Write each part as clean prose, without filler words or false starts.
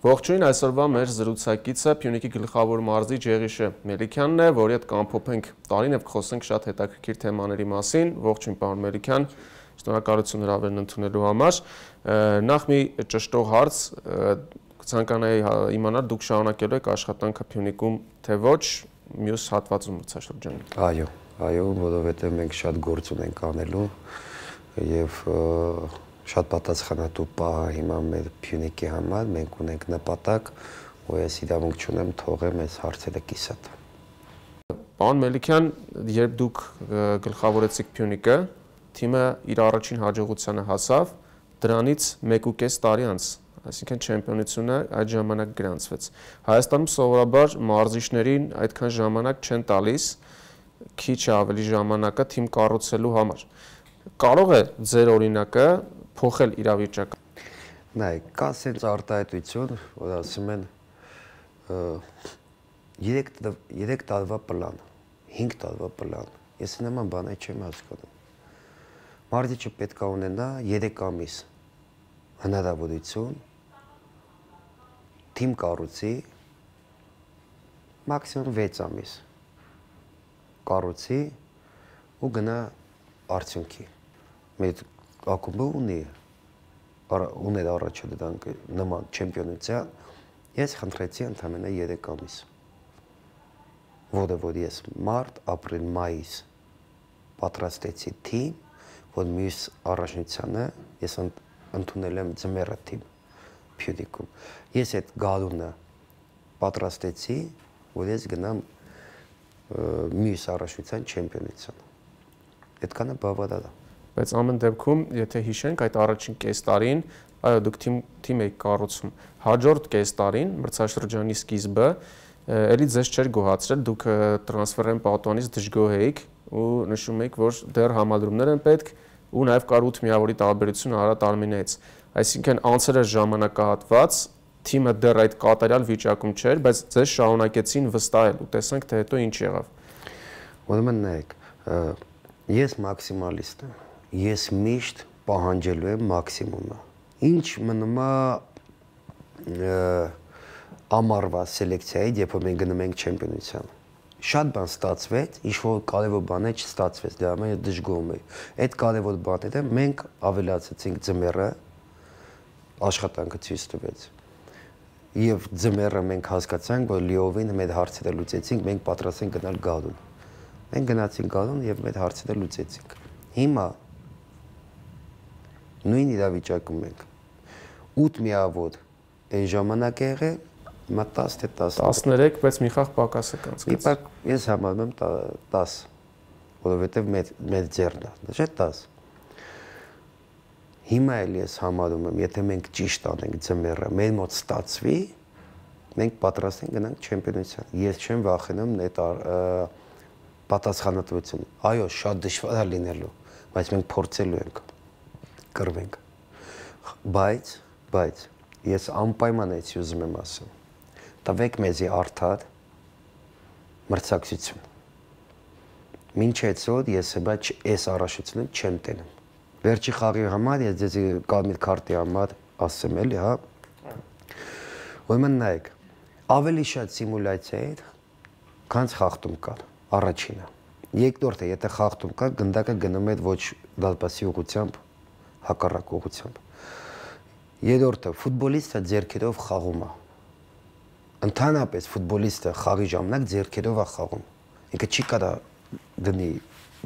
Ողջույն, այսօրվա մեր զրուցակիցը Փյունիկի գլխավոր մարզիչ Եղիշե Մելիքյանն է, որի հետ կամփոփենք տարին եւ կխոսենք շատ հետաքրքիր թեմաների մասին։ Ողջույն, պարոն Մելիքյան, շնորհակալություն հրավերն ընդունելու համար։ Նախ մի ճշտող հարց, կցանկանայի իմանալ, դուք շարունակելու եք աշխատանքը Փյունիկում, թե ոչ, մյուս հատվածում մրցաշրջանում։ Այո, որովհետեւ մենք շատ գործ ունենք անելու եւ շատ պատասխանատու պահ հիմա մեր Փյունիկի համար, մենք ունենք նպատակ, ու ես իրավունք չունեմ թողեմ այս հարցերը կիսատ։ Պարոն Մելիքյան, երբ դուք գլխավորեցիք Փյունիկը, թիմը իր առաջին հաջողությանը հասավ, դրանից 1.5 տարի անց, այսինքն չեմպիոնությունը այդ ժամանակ գրանցվեց։ Հայաստանում սովորաբար մարզիչներին այդքան ժամանակ չեն տալիս, քիչ ավելի ժամանակը թիմ կառուցելու համար։ Կարող է ձեր օրինակը փոխել իրավիճակը։ Նայեք, կա sense արտահայտություն, որ ասում են 3 տարվա պլան, 5 տարվա պլան։ Ես նման բան չեմ հասկանում։ Մարզիչը պետք է ունենա 3 ամիս հնարավորություն թիմ կառուցի, մաքսիմում 6 ամիս կառուցի ու գնա արդյունքի։ Մեր ակումբը ուներ առաջադրանք նման չեմպիոնության, ես խնդրեցի ընդամենը 3 ամիս, որ ես մարտ, ապրիլ, մայիս պատրաստեցի թիմ, որ մյուս առաջնությանը ես ընդունել եմ ձմեռը թիմ Փյունիկում։ Ես այդ գարունը պատրաստեցի, որ ես գնամ մյուս առաջնության չեմպիոնության։ Այդքանը բավարար է։ Բայց ամեն դեպքում, եթե հիշենք այդ առաջին կես տարին, այո, դուք թիմ եք կառուցում։ Հաջորդ կես տարին, մրցաշրջանի սկիզբը, էլի ձեզ չէր գոհացրել, դուք տրանսֆերային պատուհանից դժգոհ էիք ու նշում եք, որ դեռ համադրումներ են պետք ու նաև կար 8 միավորի տարբերություն Արարատ Արմենիայից։ Այսինքն անցրած ժամանակահատված թիմը դեռ այդ կատարյալ վիճակում չէր, բայց ձեզ շարունակեցին վստահել ու տեսանք, թե հետո ինչ եղավ։ Ուրեմն նայեք, ես մաքսիմալիստ եմ։ Ես միշտ պահանջելու եմ մաքսիմումը։ Ինչ մնում է ամառվա սելեկցիայի, երբ մենք գնում ենք չեմպիոնության։ Շատ բան ստացվեց, ինչ որ կարևոր բաներ չստացվեց, դրա համար ես դժգոհում եի։ Այդ կարևոր բաները մենք ավելացրեցինք ձմեռը, աշխատանքը ցույց տվեց։ Եվ ձմեռը մենք հասկացանք, որ լիովին մեր հարցերը լուծեցինք, մենք պատրաստ ենք գնալ գարուն։ Մենք գնացինք գարուն եւ մեր հարցերը լուծեցինք։ Հիմա նույն իրավիճակում ենք։ 8 միավոր այն ժամանակ է եղել, հիմա 10 թե 13, բայց մի խաղ պակաս է կանցկացել։ Ես համարում եմ 10, որովհետև մեր ձեռն է, չէ՞ 10։ Հիմա էլ ես համարում եմ, եթե մենք ճիշտ անենք ձմեռը, մեր մոտ ստացվի, մենք պատրաստ ենք գնանք չեմպիոնության։ Ես չեմ վախենում այդ պատասխանատվություն։ Այո, շատ դժվար է լինելու, բայց մենք փորձելու ենք կռվենք։ Բայց ես անպայման έτσι ուզում եմ ասում։ Տվեք մեզի արդար մրցակցություն։ Մինչ այսօր ես հիմա այս առաջությունը չեմ տենում։ Վերջի խաղի համար ես ձեզ կարմիր քարտի համար ասեմ էլի, հա։ Ուրեմն նայեք, ավելի շատ սիմուլյացիա էր, քան խախտում կար, առաջինը։ Երկրորդը, եթե խախտում կար, գնդակը գնում էր ոչ դարպասի ուղղությամբ, հակառակ ուղղությամբ։ Երրորդը, ֆուտբոլիստը ձեռքերով խաղում է։ Ընդհանրապես ֆուտբոլիստը խաղի ժամանակ ձեռքերով է խաղում։ Ինքը չի կարա դնի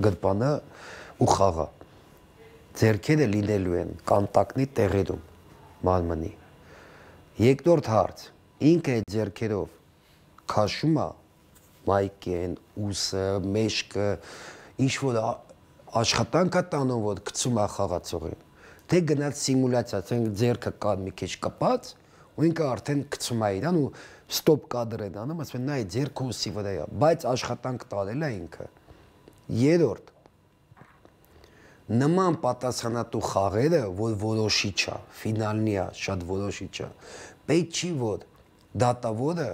գրպանը ու խաղա։ Ձեռքերը լինելու են կոնտակտի տեղերում մարմնի։ Երկրորդ հարց, ինքը ձեռքերով քաշում է մայքեն, ուսը, մեջքը, ինչ որ աշխատանք է տանում, որ գցում է խաղացողին։ Թե գնաց սիմուլյացիա, ասենք ձեռքը կար մի քիչ կպած, ու ինքը արդեն գցում է իրան ու ստոպ կադր են անում, ասում են նայ ձեռքը ուսի վրա է, բայց աշխատանք տարել է ինքը։ Երրորդ, նման պատասխանատու խաղերը, որ որոշիչ է, ֆինալնի է, շատ որոշիչ է, պետք չի որ դատավորը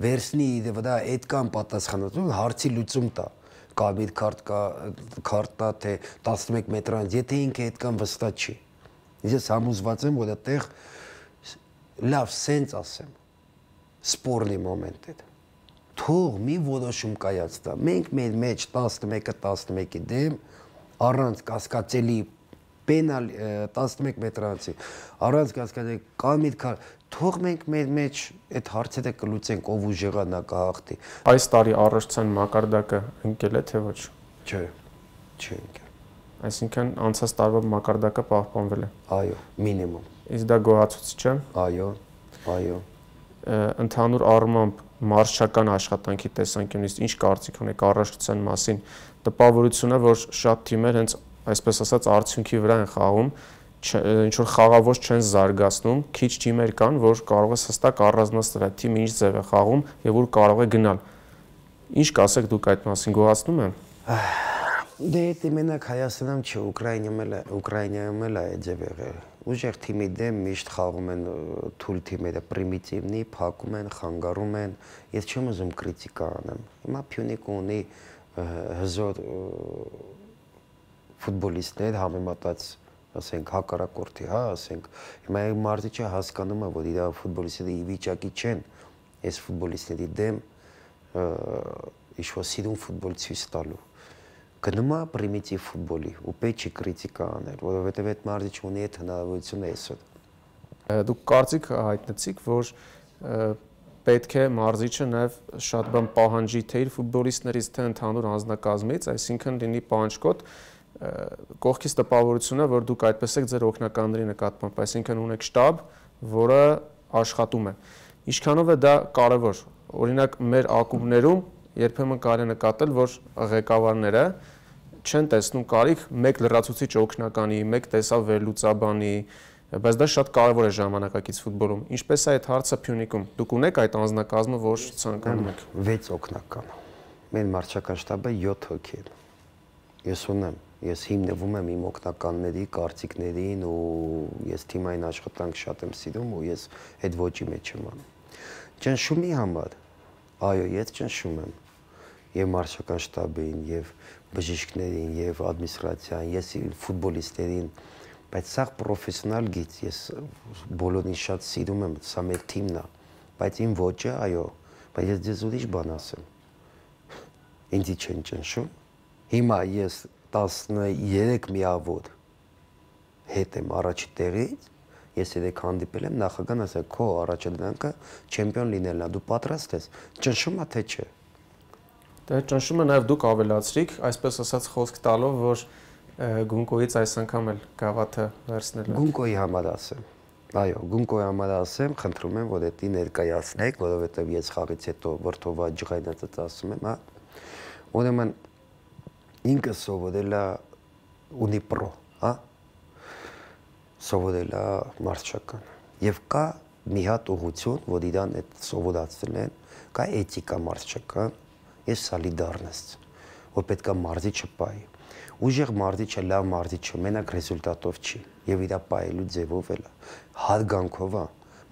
վերցնի իր վրա այդքան պատասխանատվություն հարցի լուծում տա, կարմիր քարտա թե 11 մետրանից, եթե ինքը այդքան վստահ չի։ Ես համոզված եմ, որ այդտեղ լավ սենց ասեմ սպորտի մոմենտ է թող մի որոշում կայացնա մենք մեր մեջ 11-11-ի դեմ առանց կասկածելի պենալ 11 մետրանցի առանց կասկածելի կամ թող մենք մեր մեջ այդ հարցերը կլուծենք ով ուժեղա նա կհաղթի այս տարի առողջության մակարդակը ընկել է թե ոչ չէ ընկել այսինքն անցած տարվա մակարդակը պահպանվել է այո մինիմում իսկ դա գոհացուցիչ է այո ընդհանուր առմամբ մարզչական աշխատանքի տեսանկյունից ինչ կարծիք ունեք առողջության մասին տպավորություն է որ շատ թիմեր հենց այսպես ասած արդյունքի վրա են խաղում ինչ որ խաղavoց չեն զարգացնում քիչ թիմեր կան որ կարող է հստակ առանձնացնել այդ թիմը ինչ ձև է խաղում եւ ուր կարող է գնալ ինչ կասեք դուք այդ մասին գոհացնում է դե դե մենակ Հայաստանում չէ Ուկրաինայում էլ է ձև եղել ուժեղ թիմի դեմ միշտ խաղում են թույլ թիմերը պրիմիտիվնի փակում են խանգարում են ես չեմ ուզում կրիտիկա անեմ հիմա Փյունիկ ունի հզոր ֆուտբոլիստներ համեմատած ասենք հակառակորդի հա ասենք հիմա մարզիչը հասկանում է որ իր ֆուտբոլիստները ի վիճակի չեն այս ֆուտբոլիստների դեմ ինչ-որ սիրուն ֆուտբոլ ցույց տալու գնում է պրիմիտիվ ֆուտբոլի ու պետք չի կրիտիկա անել որովհետև այդ մարզիչը ունի այդ հնարավորությունը այսօր դուք կարծիք հայտնեցիք որ պետք է մարզիչը նաև շատ բան պահանջի թե իր ֆուտբոլիստներից թե ընդհանուր անձնակազմից այսինքն լինի պահանջկոտ կողքից տպավորությունը որ դուք այդպես եք ձեր օգնականների նկատմամբ այսինքն ունեք շտաբ որը աշխատում է ինչքանով է դա կարևոր օրինակ մեր ակումբներում երբեմն կարելի է նկատել որ ղեկավարները չեն տեսնում կարիք մեկ լրացուցիչ օգնականի մեկ տեսավ վերլուծաբանի բայց դա շատ կարևոր է ժամանակակից ֆուտբոլում ինչպես է այդ հարցը Փյունիկում դուք ունեք այդ անձնակազմը որ ցանկանում եք 6 օգնական մեր մարզչական շտաբը 7 հոգի է ես ունեմ ես հիմնվում եմ իմ օգնականների կարծիքներին ու ես թիմային աշխատանք շատ եմ սիրում ու ես այդ ոճի մեջ եմ անում ճնշումի համար այո ես ճնշում եմ եւ մարզչական շտաբին եւ բժիշկներին եւ ադմինիստրացիան ես ֆուտբոլիստերին բայց սա պրոֆեսիոնալ գիծ ես բոլորին շատ սիրում եմ սա մեր թիմն է բայց իմ ոճը այո բայց ես ձեզ ուրիշ բան ասեմ ինձ չեն ճնշում հիմա ես 13 միավոր հետ եմ առաջի տեղից ես երեք հանդիպել եմ նախագահն ասել քո առաջադրանքը չեմպիոն լինելն է դու պատրաստ ես ճնշում է թե չէ դե ճնշումը նաև դուք ավելացրիք այսպես ասած խոսք տալով որ Գունկոյից այս անգամ էլ գավաթը վերցնել Գունկոյի համար ասեմ այո Գունկոյի համար ասեմ խնդրում եմ որ դա ներկայացնեք որովհետև ես խաղից հետո վրթովա ջղայնացած ասում եմ հա ուրեմն ինքը սովորել է ունի պրո հա սովորել է մարզչական եւ կա մի հատ ուղղություն որ իրան այդ սովորացել են կա էթիկա մարզչական եւ սոլիդարность որ պետք է մարզիչը պայի ուժեղ մարզիչը լավ մարզիչը մենակ ռեզուլտատով չի եւ իր պայելու ձևով էլ հարգանքով է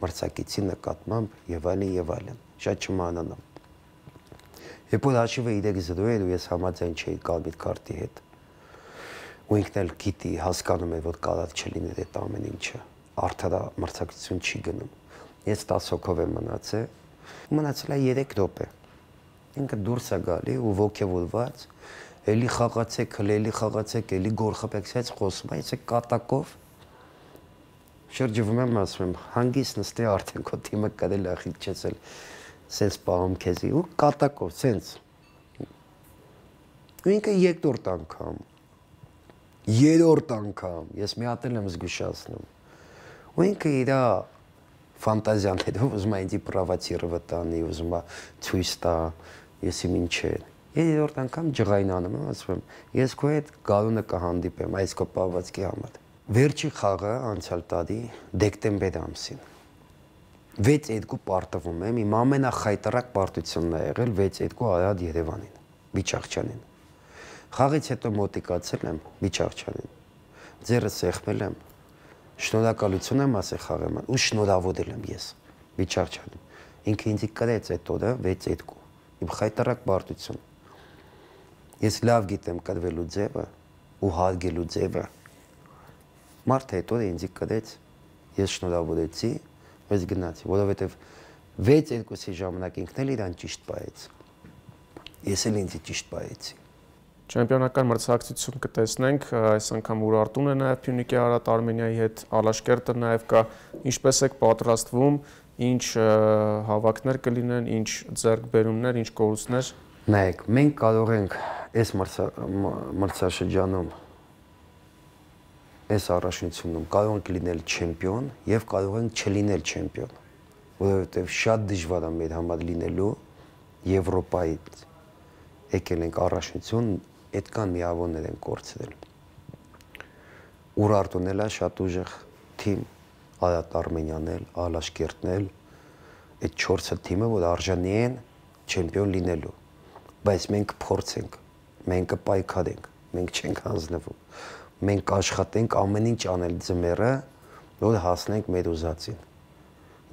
մրցակիցի նկատմամբ եւ այլն շատ չմանանամ երբ որ հաշիվը 3-0 էր ու ես համաձայն չէի կարմիր քարտի հետ ու ինքն էլ գիտի հասկանում է որ կարող չլիներ այդ ամեն ինչը արդար մրցակցություն չի գնում ես 10 հոգով եմ մնացել է 3 րոպե ինքը դուրս է գալի ու ոգևորված էլի խաղացեք էլի խաղացեք էլի գոլ խփեցեք խոսում է իսկ կատակով շրջվում եմ ասում եմ հանգիստ նստի արդեն քո թիմը կարել է խիչեցել սենց պահում քեզի ու կատակով սենց ու ինքը երրորդ անգամ ես մի հատ եմ զգուշացնում ու ինքը իր ֆանտազիաներով ուզում է ինձ պրովոցիրը տանի ուզում է ցույց տա ես իմ ինչ է երրորդ անգամ ջղայնանում եմ ասում եմ ես քո հետ գալունը կհանդիպեմ այս քո պահվածքի համար վերջի խաղը անցյալ տարի դեկտեմբեր ամսին 6-2 պարտվում եմ, իմ ամենախայտարակ պարտությունն է եղել 6-2 Արադ Երևանին, Բիչաղչյանին։ Խաղից հետո մոտիկացել եմ Բիչաղչյանին, ձեռս սեղմել եմ, շնորհակալություն եմ ասել խաղեման ու շնորհավորել եմ ես Բիչաղչյանին։ Ինքը ինձ կրեց այդ օրը 6-2, իմ խայտարակ պարտություն։ Ես լավ գիտեմ կրվելու ձևը ու հարգելու ձևը։ Մարդը այդ օրը ինձ կրեց, ես շնորհավորեցի Ես գնացի, որովհետև 6-2-ի ժամանակ ինքն էլ իրան ճիշտ պահեց։ Ես էլ ինձ ճիշտ պահեցի։ Չեմպիոնական մրցակցություն կտեսնենք, այս անգամ Ուրարտուն է նաև Փյունիկի Արարատ Արմենիայի հետ, Ալաշկերտը նաև կա, ինչպես եք պատրաստվում, ինչ հավաքներ կլինեն, ինչ ձեռքբերումներ, ինչ կորուստներ։ Նայեք, մենք կարող ենք այս մրցաշրջանում, այս առաջնությունում կարող ենք լինել չեմպիոն եւ կարող ենք չլինել չեմպիոն, որովհետեւ շատ դժվար է մեր համար լինելու Եվրոպայից եկել ենք առաջնություն, այդքան միավորներ են կորցրել։ Ուրարտուն էլ է շատ ուժեղ թիմ, Արարատ Արմենիան էլ, Ալաշկերտն էլ, այդ 4 թիմը, որ արժանի են չեմպիոն լինելու։ Բայց մենք փորձենք, մենք կպայքարենք, մենք չենք հանձնվում։ Մենք կաշխատենք ամեն ինչ անել ձմեռը, որ հասնենք մեր ուզածին։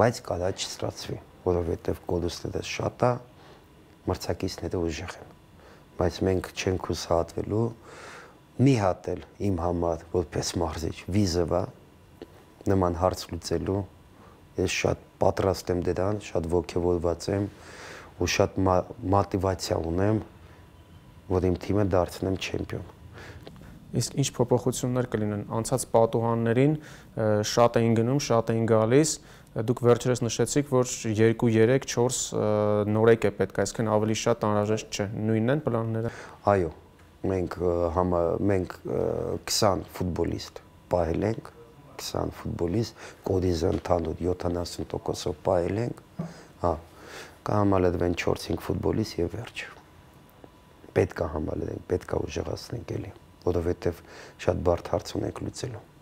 Բայց կարա չստացվի, որովհետև կորուստները շատ է, մրցակիցները ուժեղ են։ Բայց մենք չենք հուսահատվելու, մի հատ էլ իմ համար, որպես մարզիչ, վիզովա նման հարց լուծելու, ես շատ պատրաստ եմ դրան, շատ ոգևորված եմ ու շատ մոտիվացիա ունեմ, որ իմ թիմը դարձնեմ չեմպիոն։ Իսկ ինչ փոփոխություններ կլինեն անցած պատուհաններին, շատ էին գնում, շատ էին գալիս, դուք վերջերս նշեցիք, որ 2-3-4 նորեկ է պետք, այսինքն ավելի շատ անհրաժեշտ չէ, նույնն են պլանները։ Այո, մենք 20 ֆուտբոլիստ պահել ենք, 20 ֆուտբոլիստ, կոդիզը ընդհանուր 70%-ով պահել ենք, կհամալրվեն 4-5 ֆուտբոլիստ եւ վերջ։ Պետք է համալրենք, պետք է ուժեղացնենք էլի, որովհետեւ շատ բարդ հարց ունենք լուծելու։